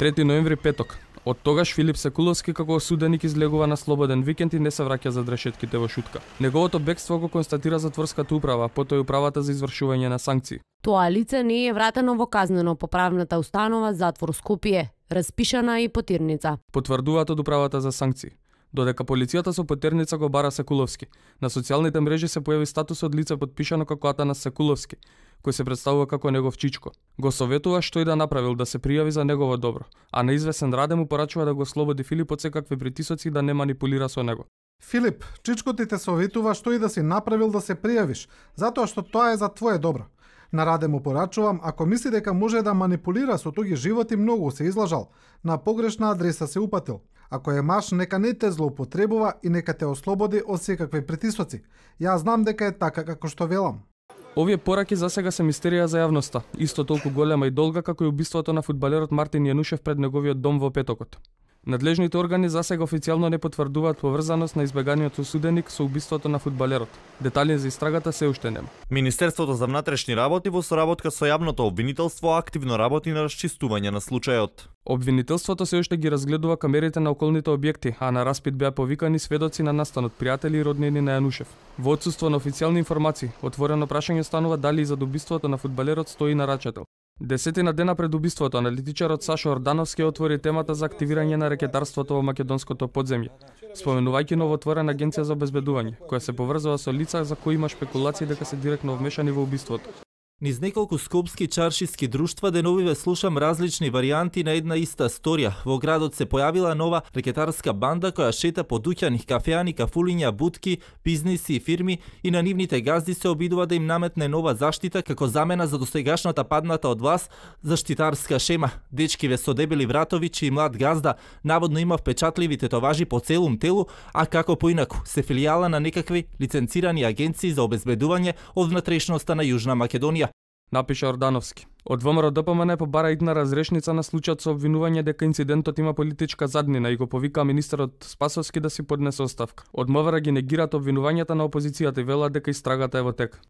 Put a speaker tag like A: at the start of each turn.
A: 3 ноември петок. Од тогаш Филип Секуловски како осуденик излегува на слободен викенд и не се враќа зад решетките во Шутка. Неговото бегство го констатира затворската управа, потоа и управата за извршување на санкции.
B: Тоа лице не е вратено во казнено-поправната установа затвор Скопје, распишана и потирница.
A: Потврдуваат од управата за санкции. Додека полицијата со потерница го бара Секуловски, на социјалните мрежи се појави статус од лице подпишано како Атанас Секуловски, кој се представува како негов чичко. Го советува што и да направил да се пријави за негово добро, а на извесен Раде му порачува да го слободи Филип од секакви притисоци и да не манипулира со него.
C: Филип, чичко ти те советува што и да си направил да се пријавиш, затоа што тоа е за твое добро. На Раде му порачувам, ако мисли дека може да манипулира со туги животи, многу се излажал, на погрешна адреса се упатил. Ако е маш, нека не те злоупотребува и нека те ослободи од секакви притисоци. Јас знам дека е така како што велам.
A: Овие пораки засега се мистерија за јавноста, исто толку голема и долга како и убиството на фудбалерот Мартин Јанушев пред неговиот дом во петокот. Надлежните органи засега официјално не потврдуваат поврзаност на избеганиот осуденик со убиството на фудбалерот. Детали за истрагата се уште нема.
D: Министерството за внатрешни работи во соработка со јавното обвинителство активно работи на расчистување на случајот.
A: Обвинителството се уште ги разгледува камерите на околните објекти, а на распит беа повикани сведоци на настанот, пријатели и роднини на Јанушев. Во отсуство на официјални информации, отворено прашање станува дали за убиството на фудбалерот стои нарачател. Десетина дена пред убиството, аналитичарот Сашо Ордановски отвори темата за активирање на рекетарството во македонското подземје, споменувајќи новоотворена агенција за обезбедување, која се поврзува со лица за кои има шпекулации дека се директно вмешани во убиството.
E: Низ неколку скопски чаршиски друштва деновиве слушам различни варијанти на една иста сторија. Во градот се појавила нова рекетарска банда која шета по дуќани, кафеани, кафулиња, будки, бизниси и фирми и на нивните газди се обидува да им наметне нова заштита како замена за досегашната падната од власт заштитарска шема. Дечкиве со дебели вратовичи и млад газда наводно има впечатливи тетоважи по целум телу, а како поинаку се филијала на некакви лиценцирани агенции за обезбедување од внатрешноста на Јужна Македонија,
A: напиша Ордановски. Од ВМРО ДПМН побара идна разрешница на случајот со обвинување дека инцидентот има политичка заднина и го повика министерот Спасовски да си поднесе оставка. Од МВР ги негираат обвинувањата на опозицијата и велат дека истрагата е во тек.